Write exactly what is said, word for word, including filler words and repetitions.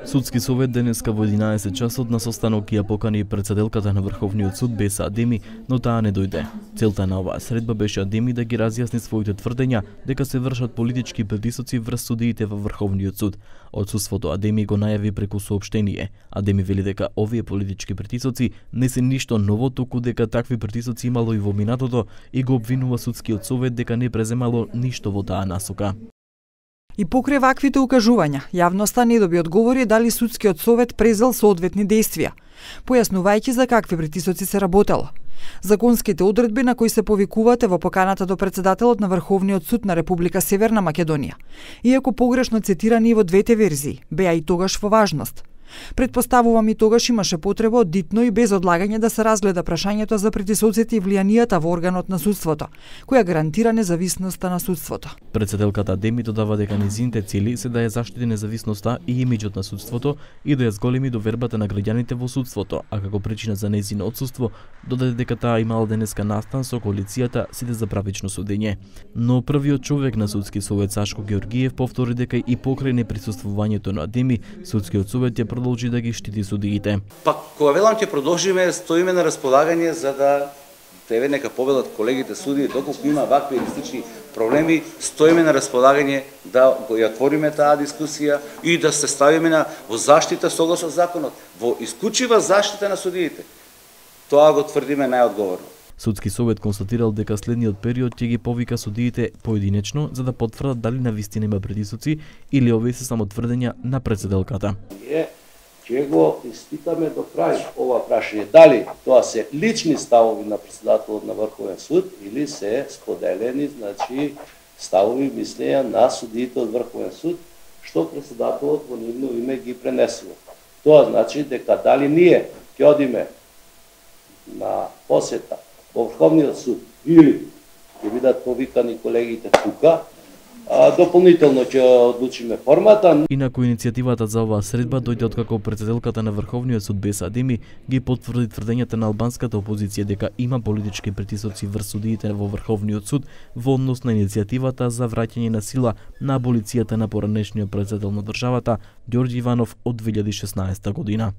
Судски совет денеска во единаесет часот на состанок ја покани председателката на Врховниот суд Беса Адеми, но таа не дојде. Целта на оваа средба беше Адеми да ги разјасни своите тврдења дека се вршат политички притисоци врз судиите во Врховниот суд. Одсуството Адеми го најави преку соопштение. Адеми вели дека овие политички притисоци не се ништо ново, туку дека такви притисоци имало и во минатото и го обвинува судскиот совет дека не преземало ништо во таа насока. И покрај ваквите укажувања, јавноста не доби одговори дали судскиот совет презел соодветни действија, појаснувајќи за какви притисоци се работело. Законските одредби на кои се повикувате во поканата до председателот на Врховниот суд на Република Северна Македонија, иако погрешно цитирани во двете верзии, беа и тогаш во важност. Предпоставувам и тогаш имаше потреба од дитно и без одлагање да се разгледа прашањето за притисоците и влијанијата во органот на судството, која гарантира независноста на судството. Председателката Адеми додава дека низините цели се да ја заштити независноста и имиџот на судството и да ја зголеми довербата на граѓаните во судството, а како причина за нејзино отсуство додаде дека таа имала денеска настан со коалицијата Сите за правично судење. Но првиот човек на судски совет Сашко Георгиев повтори дека и покрај неприсуствувањето на Адеми, судскиот совет ја продолжи да ги штити судиите. Па кога велам ќе продолжиме, стоиме на располагање за да тебе нека победат колегите судии, доколку има вакви юридични проблеми, стоиме на располагање да го ја отвориме таа дискусија и да се ставиме на во заштита согласно законот, во исклучива заштита на судиите. Тоа го тврдиме најодговорно. Судски совет констатирал дека следниот период ќе ги повика судиите поединечно за да потврдат дали навистина има притисоци или овие се само тврдења на председателката. Ќе го испитаме до крај ова прашање, дали тоа се лични ставови на председателот на Врховен суд или се споделени, значи ставови мислења на судиите од Врховен суд, што председателот во нивно име ги пренесува. Тоа значи дека дали ние ќе одиме на посета во Врховниот суд или ќе бидат повикани колегите тука, а дополнително ќе одлучиме формата. Инаку иницијативата за оваа средба дојде откако председателката на Врховниот суд Беса Адеми ги потврди тврдењата на албанската опозиција дека има политички притисоци врз судиите во Врховниот суд во однос на иницијативата за враќање на сила на аболицијата на поранешниот председател на државата Ѓорѓе Иванов од две илјади и шеснаесета година.